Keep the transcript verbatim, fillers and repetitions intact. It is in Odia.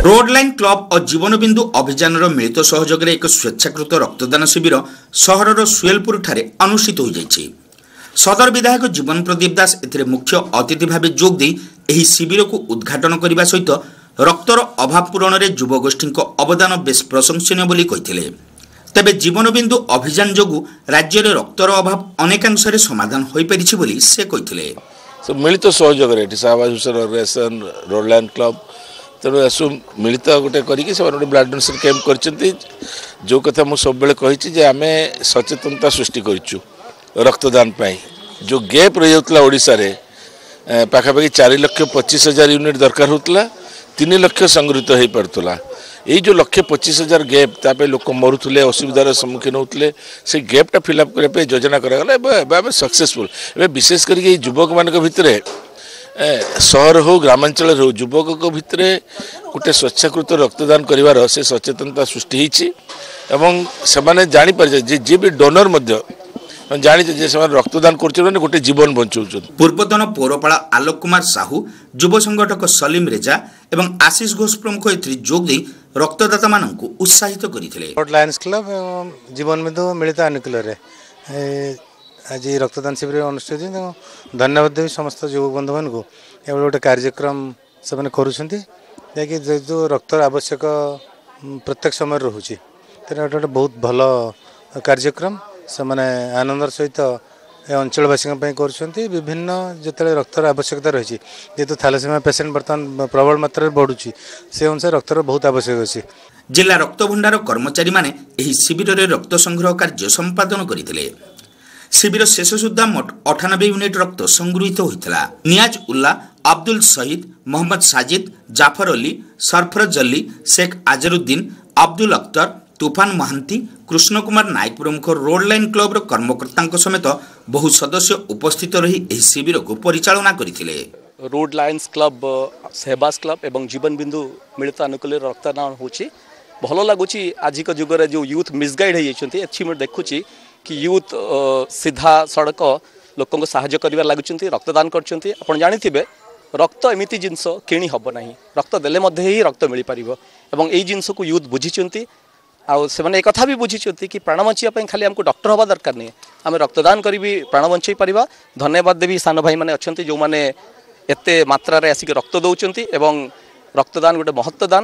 ରୋଡ୍ ଲାଇନ୍ କ୍ଲବ ଓ ଜୀବନବିନ୍ଦୁ ଅଭିଯାନର ମିଳିତ ସହଯୋଗରେ ଏକ ସ୍ୱେଚ୍ଛାକୃତ ରକ୍ତଦାନ ଶିବିର ସହରର ସୁଏଲପୁରଠାରେ ଅନୁଷ୍ଠିତ ହୋଇଯାଇଛି। ସଦର ବିଧାୟକ ଜୀବନ ପ୍ରଦୀପ ଦାସ ଏଥିରେ ମୁଖ୍ୟ ଅତିଥି ଭାବେ ଯୋଗ ଦେଇ ଏହି ଶିବିରକୁ ଉଦ୍ଘାଟନ କରିବା ସହିତ ରକ୍ତର ଅଭାବ ପୂରଣରେ ଯୁବଗୋଷ୍ଠୀଙ୍କ ଅବଦାନ ବେଶ୍ ପ୍ରଶଂସନୀୟ ବୋଲି କହିଥିଲେ। ତେବେ ଜୀବନବିନ୍ଦୁ ଅଭିଯାନ ଯୋଗୁଁ ରାଜ୍ୟରେ ରକ୍ତର ଅଭାବ ଅନେକାଂଶରେ ସମାଧାନ ହୋଇପାରିଛି ବୋଲି ସେ କହିଥିଲେ। ମିଳିତ ସହଯୋଗରେ ଏଠି Shahbaz Hussain organisation, road line club, ତେଣୁ ଏସବୁ ମିଳିତ ଗୋଟେ କରିକି ସେମାନେ ଗୋଟେ ବ୍ଲଡ୍ ଡୋନେସନ୍ କ୍ୟାମ୍ପ କରିଛନ୍ତି। ଯେଉଁ କଥା ମୁଁ ସବୁବେଳେ କହିଛି ଯେ ଆମେ ସଚେତନତା ସୃଷ୍ଟି କରିଛୁ ରକ୍ତଦାନ ପାଇଁ। ଯେଉଁ ଗ୍ୟାପ୍ ରହିଯାଉଥିଲା ଓଡ଼ିଶାରେ, ପାଖାପାଖି ଚାରି ଲକ୍ଷ ପଚିଶ ହଜାର ୟୁନିଟ୍ ଦରକାର ହେଉଥିଲା, ତିନି ଲକ୍ଷ ସଂଗୃହୀତ ହୋଇପାରୁଥିଲା। ଏଇ ଯେଉଁ ଲକ୍ଷେ ପଚିଶ ହଜାର ଗ୍ୟାପ୍, ତା ପାଇଁ ଲୋକ ମରୁଥିଲେ, ଅସୁବିଧାର ସମ୍ମୁଖୀନ ହେଉଥିଲେ। ସେ ଗ୍ୟାପ୍ଟା ଫିଲ୍ଅପ୍ କରିବା ପାଇଁ ଯୋଜନା କରାଗଲା। ଏବେ ଏବେ ଆମେ ସକ୍ସେସଫୁଲ୍। ଏବେ ବିଶେଷ କରିକି ଏଇ ଯୁବକମାନଙ୍କ ଭିତରେ, ସହର ହେଉ ଗ୍ରାମାଞ୍ଚଳରେ ହେଉ, ଯୁବକଙ୍କ ଭିତରେ ଗୋଟେ ସ୍ୱେଚ୍ଛାକୃତ ରକ୍ତଦାନ କରିବାର ସେ ସଚେତନତା ସୃଷ୍ଟି ହେଇଛି ଏବଂ ସେମାନେ ଜାଣିପାରିଛନ୍ତି ଯେ ଯିଏ ବି ଡୋନର ମଧ୍ୟ ଜାଣିছে ଯେ ସେମାନେ ରକ୍ତଦାନ କରୁଛନ୍ତି ମାନେ ଗୋଟେ ଜୀବନ ବଞ୍ଚଉଛନ୍ତି। ପୂର୍ବତନ ପୌରପାଳ ଆଲୋକ କୁମାର ସାହୁ, ଯୁବ ସଂଗଠକ ସଲିମ ରେଜା ଏବଂ ଆଶିଷ ଘୋଷ ପ୍ରମୁଖ ଏଥିରେ ଯୋଗ ଦେଇ ରକ୍ତଦାତାମାନଙ୍କୁ ଉତ୍ସାହିତ କରିଥିଲେ। ଲାୟନ୍ସ କ୍ଲବ ଏବଂ ଜୀବନବିନ୍ଦୁ ମିଳିତ ଆନୁକୂଲ୍ୟରେ ଆଜି ରକ୍ତଦାନ ଶିବିର ଅନୁଷ୍ଠିତ ହେଇଛି। ତେଣୁ ଧନ୍ୟବାଦ ଦେବି ସମସ୍ତ ଯୁବକ ବନ୍ଧୁମାନଙ୍କୁ, ଏଭଳି ଗୋଟେ କାର୍ଯ୍ୟକ୍ରମ ସେମାନେ କରୁଛନ୍ତି, ଯାହାକି ଯେହେତୁ ରକ୍ତର ଆବଶ୍ୟକ ପ୍ରତ୍ୟେକ ସମୟରେ ରହୁଛି, ତେଣୁ ଏଇଟା ଗୋଟେ ବହୁତ ଭଲ କାର୍ଯ୍ୟକ୍ରମ ସେମାନେ ଆନନ୍ଦର ସହିତ ଏ ଅଞ୍ଚଳବାସୀଙ୍କ ପାଇଁ କରୁଛନ୍ତି। ବିଭିନ୍ନ ଯେତେବେଳେ ରକ୍ତର ଆବଶ୍ୟକତା ରହିଛି, ଯେହେତୁ ଥାଲାସେମିଆ ପେସେଣ୍ଟ ବର୍ତ୍ତମାନ ପ୍ରବଳ ମାତ୍ରାରେ ବଢ଼ୁଛି, ସେ ଅନୁସାରେ ରକ୍ତର ବହୁତ ଆବଶ୍ୟକ ଅଛି। ଜିଲ୍ଲା ରକ୍ତଭଣ୍ଡାର କର୍ମଚାରୀମାନେ ଏହି ଶିବିରରେ ରକ୍ତ ସଂଗ୍ରହ କାର୍ଯ୍ୟ ସମ୍ପାଦନ କରିଥିଲେ। ଶିବିର ଶେଷ ସୁଦ୍ଧା ମୋଟ ଅଠାନବେ ୟୁନିଟ୍ ରକ୍ତ ସଂଗୃହୀତ ହୋଇଥିଲା। ନିଆଜ ଉଲ୍ଲା, ଅବଦୁଲ ସହିଦ, ମହମ୍ମଦ ସାଜିଦ, ଜାଫର ଅଲି, ସରଫରଜ ଅଲ୍ଲୀ, ଶେଖ ଆଜରୁଦ୍ଦିନ, ଅବଦୁଲ ଅକ୍ତର, ତୁଫାନ ମହାନ୍ତି, କୃଷ୍ଣ କୁମାର ନାୟକ ପ୍ରମୁଖ ରୋଡ୍ ଲାଇନ୍ କ୍ଲବର କର୍ମକର୍ତ୍ତାଙ୍କ ସମେତ ବହୁ ସଦସ୍ୟ ଉପସ୍ଥିତ ରହି ଏହି ଶିବିରକୁ ପରିଚାଳନା କରିଥିଲେ। Road Lions club, Shehbaz club ଏବଂ ଜୀବନ ବିନ୍ଦୁ ମିଳିତ ଆନୁକୂଲ୍ୟରେ ରକ୍ତଦାନ ହେଉଛି। ଭଲ ଲାଗୁଛି। ଆଜିକା ଯୁଗରେ ଯେଉଁ ୟୁଥ୍ ମିସଗାଇଡ୍ ହେଇଯାଇଛନ୍ତି, ଏଠି ମୁଁ ଦେଖୁଛି କି ୟୁଥ୍ ସିଧା ସଡ଼କ ଲୋକଙ୍କୁ ସାହାଯ୍ୟ କରିବାରେ ଲାଗୁଛନ୍ତି, ରକ୍ତଦାନ କରୁଛନ୍ତି। ଆପଣ ଜାଣିଥିବେ, ରକ୍ତ ଏମିତି ଜିନିଷ କିଣି ହେବ ନାହିଁ, ରକ୍ତ ଦେଲେ ମଧ୍ୟ ହିଁ ରକ୍ତ ମିଳିପାରିବ ଏବଂ ଏଇ ଜିନିଷକୁ ୟୁଥ୍ ବୁଝିଛନ୍ତି। ଆଉ ସେମାନେ ଏକଥା ବି ବୁଝିଛନ୍ତି କି ପ୍ରାଣ ବଞ୍ଚିବା ପାଇଁ ଖାଲି ଆମକୁ ଡକ୍ଟର ହେବା ଦରକାର ନାହିଁ, ଆମେ ରକ୍ତଦାନ କରି ବି ପ୍ରାଣ ବଞ୍ଚେଇ ପାରିବା। ଧନ୍ୟବାଦ ଦେବି, ସାନ ଭାଇମାନେ ଅଛନ୍ତି ଯେଉଁମାନେ ଏତେ ମାତ୍ରାରେ ଆସିକି ରକ୍ତ ଦେଉଛନ୍ତି ଏବଂ ରକ୍ତଦାନ ଗୋଟେ ମହତ୍ଵ ଦାନ।